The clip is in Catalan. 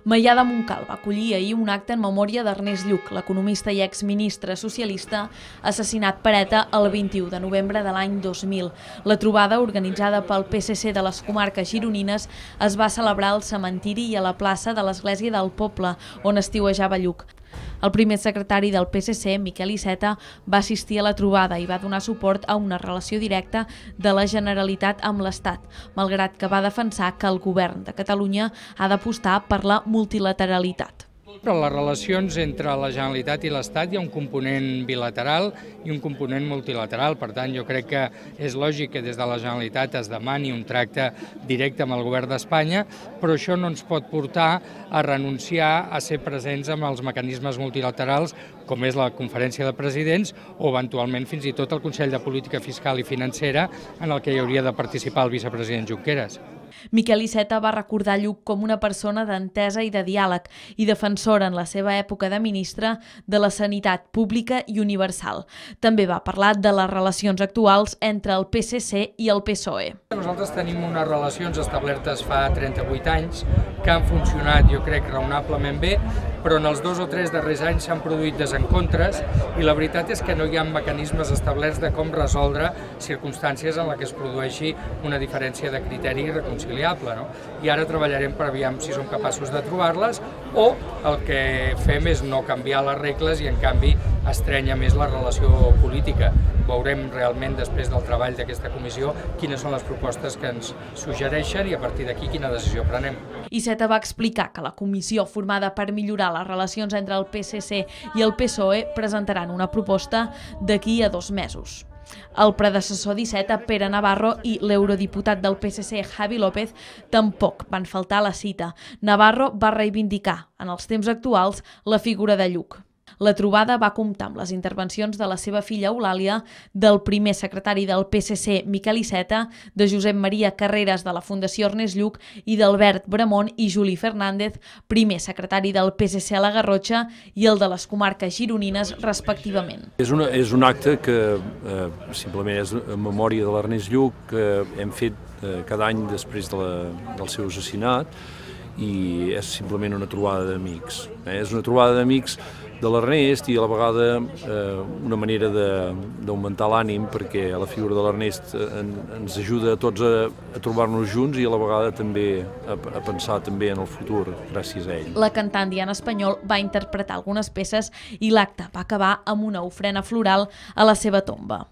Maià de Montcal va acollir ahir un acte en memòria d'Ernest Lluch, l'economista i exministre socialista assassinat per ETA el 21 de novembre de l'any 2000. La trobada, organitzada pel PSC de les comarques gironines, es va celebrar al cementiri i a la plaça de l'Església del Poble, on estiuejava Lluch. El primer secretari del PSC, Miquel Iceta, va assistir a la trobada i va donar suport a una relació directa de la Generalitat amb l'Estat, malgrat que va defensar que el govern de Catalunya ha d'apostar per la multilateralitat. Però les relacions entre la Generalitat i l'Estat hi ha un component bilateral i un component multilateral. Per tant, jo crec que és lògic que des de la Generalitat es demani un tracte directe amb el govern d'Espanya, però això no ens pot portar a renunciar a ser presents amb els mecanismes multilaterals, com és la Conferència de Presidents o eventualment fins i tot el Consell de Política Fiscal i Financera, en el que hi hauria de participar el vicepresident Junqueras. Miquel Iceta va recordar Lluch com una persona d'entesa i de diàleg i defensora en la seva època de ministre de la sanitat pública i universal. També va parlar de les relacions actuals entre el PSC i el PSOE. Nosaltres tenim unes relacions establertes fa 38 anys que han funcionat, jo crec, raonablement bé, però en els 2 o 3 darrers anys s'han produït desencontres i la veritat és que no hi ha mecanismes establerts de com resoldre circumstàncies en què es produeixi una diferència de criteri irreconciliable. I ara treballarem per aviam si som capaços de trobar-les o el que fem és no canviar les regles i en canvi estrenya més la relació política. Veurem realment després del treball d'aquesta comissió quines són les propostes que ens suggereixen i a partir d'aquí quina decisió prenem. Iceta va explicar que la comissió formada per millorar les relacions entre el PSC i el PSOE presentaran una proposta d'aquí a 2 mesos. El predecessor d'Iceta, Pere Navarro, i l'eurodiputat del PSC, Javi López, tampoc van faltar a la cita. Navarro va reivindicar, en els temps actuals, la figura de Lluch. La trobada va comptar amb les intervencions de la seva filla Eulàlia, del primer secretari del PSC, Miquel Iceta, de Josep Maria Carreras de la Fundació Ernest Lluch i d'Albert Bramont i Juli Fernández, primer secretari del PSC a la Garrotxa i el de les comarques gironines, respectivament. És un acte que simplement és en memòria de l'Ernest Lluch, que hem fet cada any després del seu assassinat, i és simplement una trobada d'amics. És una trobada d'amics de l'Ernest i a la vegada una manera d'augmentar l'ànim, perquè la figura de l'Ernest ens ajuda a tots a trobar-nos junts i a la vegada també a pensar també en el futur gràcies a ell. La cantant Diana Espanyol va interpretar algunes peces i l'acte va acabar amb una ofrena floral a la seva tomba.